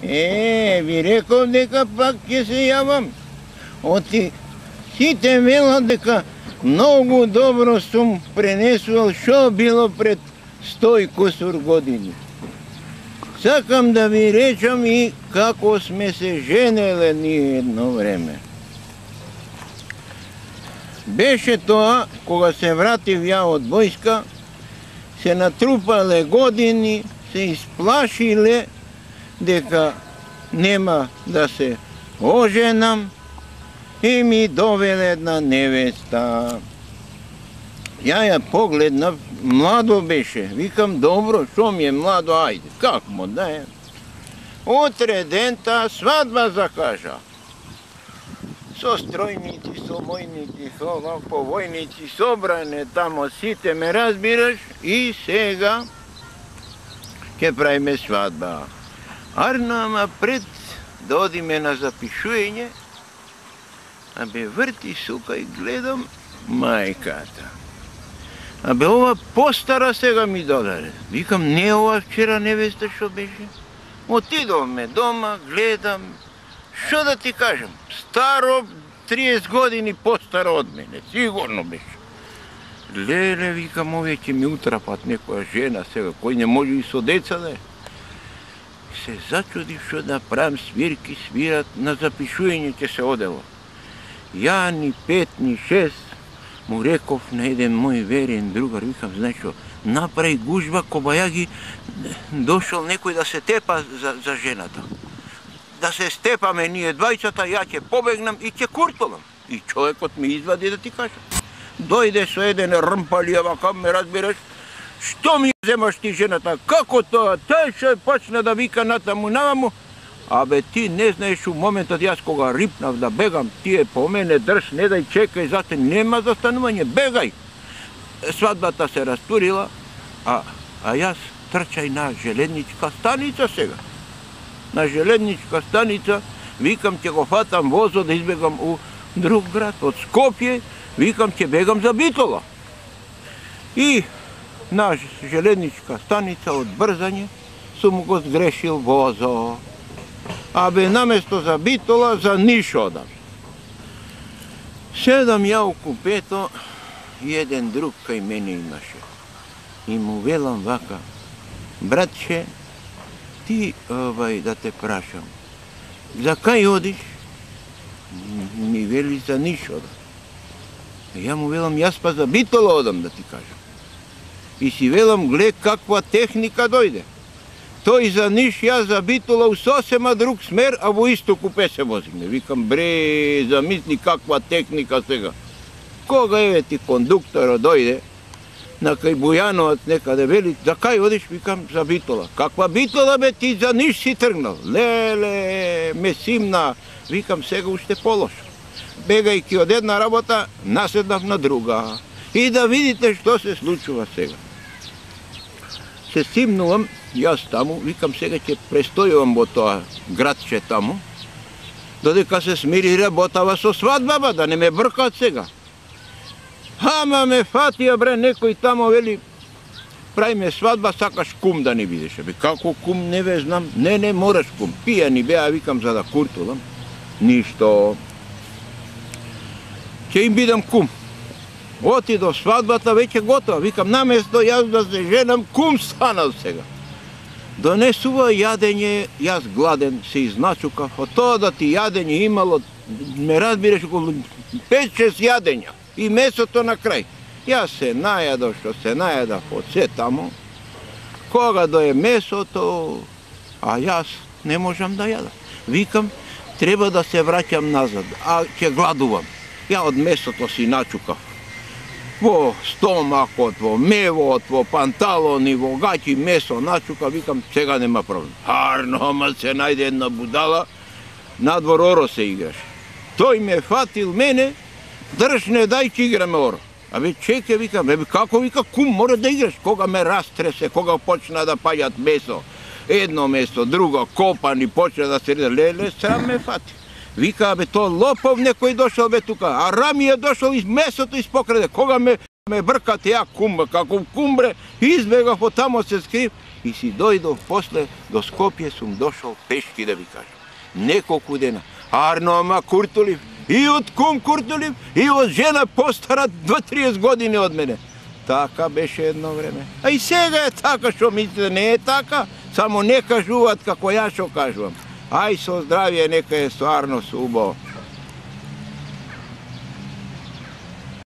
Ви реков дека пак ќе се јавам. Оти сите велат дека многу добро сум пренесувал што било пред 100 и кусур години. Сакам да ви речам и како сме се женеле ние едно време. Беше тоа, кога се вратив ја од војска, се натрупале години, се исплашиле дека нема да се оженам и ми довеле една невеста. Ја погледнав, младо беше. Викам, добро, шо ми е младо, ајде, как му да е? Утре ден таа свадба закажа. Со стројници, со мојници, со повојници, собране тамо сите, ме разбираш, и сега ќе правиме свадба. Арнама пред да одиме на запишување, абе врти сука и гледам мајката. Абе ова постара сега ми додаде. Викам, не ова вчера невеста што беше. Отидовме дома, гледам, што да ти кажам, старо 30 години постара од мене, сигурно беше. Леле, викам, овие ќе ми утрапат некоја жена сега, кој не може и со деца да е. Се зачудив што да правам, свирки свират, на запишување ќе се одело. Ја ни 5, ни 6, му реков на еден мој верен другар, викам, знаеш што, направи гужба, кобајаги, дошол некој да се тепа за жената. Да се степаме ние двајцата, ја ќе побегнам и ќе куртолам. И човекот ми извади да ти кажа. Дојде со еден рмпали, вака ме разбираш, што ми земаш ти жената, како тоа, тај што почна да вика натаму наваму. Абе ти не знаеш у моментот јас кога рипнав да бегам, тие по мене држ, не дај, чекај, зате нема застанување, бегај. Свадбата се растурила, а јас трчај на железничка станица сега. На железничка станица, викам ќе го фатам возо да избегам у друг град, од Скопје, викам ќе бегам за Битола. И на железничка станица од брзање сум го сгрешил возо. Абе наместо за Битола, за Ниш одам. Седам ја у купето и еден друг кај мене имаше. И му велам вака, братче, ти да те прашам, за кај одиш? Ми вели за Ниш одам. Ја му велам, јас па за Битола одам да ти кажам. И си велам, глед каква техника дојде. Тој за Ниш, јас за Битола у сосема друг смер, а во исто купе се возиме. Викам, бре, замисли каква техника сега. Кога еве ти кондукторот дојде, на кај Бујановаc некаде вели, за кај одиш? Викам, за Битола. Каква Битола бе, ти за Ниш си тргнал? Леле, ме симна. Викам, сега уште полошо. Бегајќи од една работа, наседнав на друга. И да видите што се случува сега. Се симнувам, јас таму, викам, сега ќе престојувам во тоа градче таму, додека се смири работава со свадбава, да не ме бркаат сега. Ама ме фатија, бре, некој тамо вели, правиме свадба, сакаш кум да ни бидеш. Бе, како кум, не ве знам. Не, мораш кум. Пијани беа, викам, за да куртулам. Ништо. Ќе им бидам кум. Оти до свадбата, веќе готова. Викам, наместо јас да се женам, кум станал сега. Донесува јадење, јас гладен се изначукав. Од тоа да ти јадење имало, ме разбираш, околу 5-6 јадења. И месото на крај. Јас се најадов, што се најадав од се тамо. Кога дое месото, а јас не можам да јадам. Викам, треба да се враќам назад, а ќе гладувам. Ја од месото си начукав. Во стомакот, во мевот, во панталони, во гаќи месо начука, викам, сега нема проблем. Харно, ама се најде една будала, надвор оро се играш. Тој ме фатил мене, држ не дај ќе играме оро. Абе чеке, викам, како вика кум мора да играш, кога ме растресе, кога почна да паѓат месо, едно месо, друго, копани, почна да се леле, срам ме фати. Вика, абе, то лопов некој дошол бе тука, а Рами е дошол из месото испокраде. Кога ме бркате ја кум, како кум бре, избегав од тамо се скрив и си дојдов после до Скопје, сум дошол пешки да ви кажам. Неколку дена. Арно Куртулив, и од кум Куртулив, и од жена постара 2-30 години од мене. Така беше едно време. А и сега е така, што мислите, не е така, само не кажуваат како ја што кажувам. Ај со здравје, нека е стварно убаво.